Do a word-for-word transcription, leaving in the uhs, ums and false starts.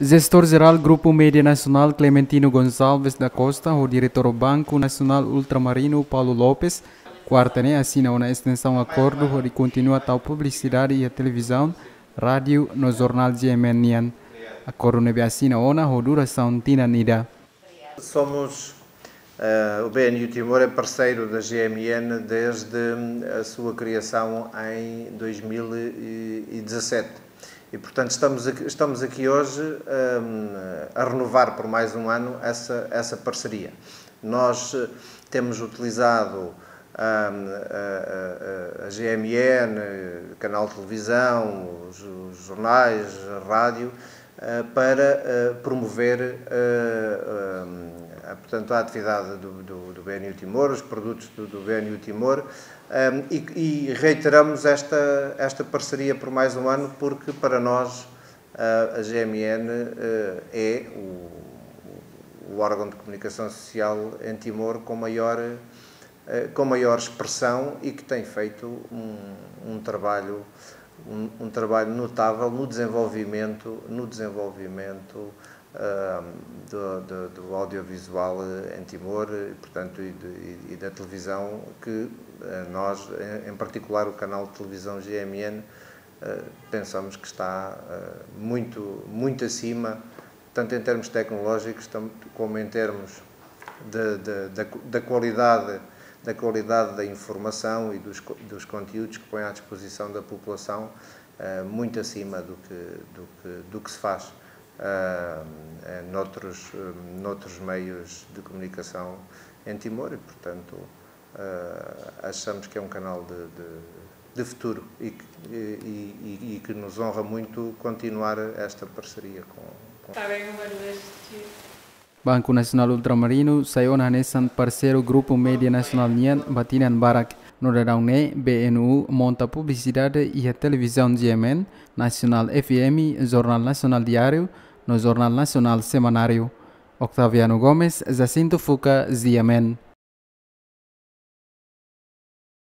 Jestór Jerál Grupu Média Nasionál Clementino Gonçalves da Costa ho Diretór Banku Nasionál Ultramarinu Paulo Lopes, kuarta ne'e asina ona estensaun akordu hodi kontinua tau publisidade iha televizaun, rádiu no jornál G M N nian. Akordu ne'ebé asina ona ho durasaun tinan ida. Somos, eh, o B N U Timor é parceiro da G M N desde a sua criação em dois mil e dezassete. E, portanto, estamos aqui, estamos aqui hoje, ehm, a renovar por mais um ano essa, essa parceria. Nós, eh, temos utilizado, ehm, a, a, a, a G M N, eh, canal de televisão, os, os jornais, a rádio, eh, para, eh, promover, eh, ehm, a, portanto, a atividade do, do, do B N U Timor, os produtos do, do B N U Timor, ehm, e, e reiteramos esta, esta parceria por mais um ano, porque para nós, eh, a G M N, eh, é o, o órgão de comunicação social em Timor com maior, eh, com maior expressão e que tem feito um, um trabalho, um, um trabalho notável no desenvolvimento, no desenvolvimento, ah, do, do, do audiovisual, eh, em Timor, eh, portanto, e, de, e, e da televisão, que, eh, nós, em, em particular o canal de televisão G M N, eh, pensamos que está, eh, muito, muito acima, tanto em termos tecnológicos tam-, como em termos de, de, da, da qualidade, da qualidade da informação e dos, co- dos conteúdos que põe à disposição da população, eh, muito acima do que, do que, do que se faz, eh, eh, noutros, eh, noutros meios de comunicação em Timor e, portanto, eh, achamos que é um canal de, de, de futuro e que, e, e, e que nos honra muito continuar esta parceria com, com... Está bem, uma das... Banku Nasionál Ultramarinu sai ona hanesan parseiru Grupu Média Nasionál nian ba tinan barak. No daudaun ne'e, B N U monta publisidade iha televizaun G M N, Nasionál F M, Jornál Nasionál Diáriu, no Jornál Nasionál Semanáriu. Octaviano Gomes, Jacinto Fuca, G M N.